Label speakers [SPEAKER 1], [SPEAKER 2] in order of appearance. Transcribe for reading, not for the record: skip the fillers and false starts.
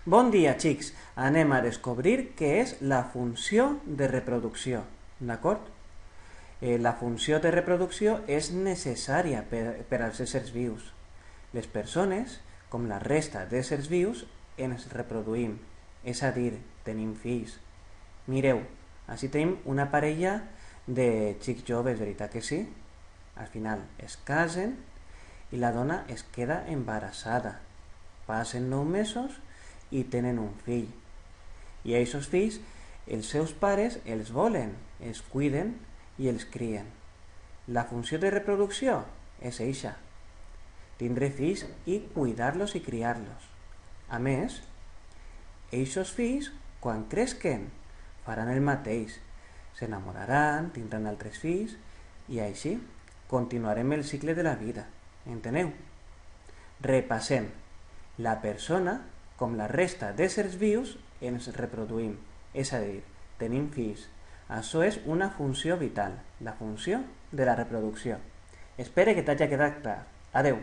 [SPEAKER 1] Bon dia, xics! Anem a descobrir què és la funció de reproducció, d'acord? La funció de reproducció és necessària per als éssers vius. Les persones, com la resta d'éssers vius, ens reproduïm, és a dir, tenim fills. Mireu, així tenim una parella de xics joves, veritat que sí? Al final es casen i la dona es queda embarassada. Passen 9 mesos i tenen un fill. I aquests fills, els seus pares els volen, els cuiden i els crien. La funció de reproducció és eixa, tindre fills i cuidar-los i criar-los. A més, aquests fills, quan cresquen, faran el mateix. S'enamoraran, tindran altres fills i així continuarem el cicle de la vida. Enteneu? Repassem. La persona, com la resta d'éssers vius, ens reproduïm, és a dir, tenim fills. Això és una funció vital, la funció de la reproducció. Espero que t'hagi quedat clar. Adeu!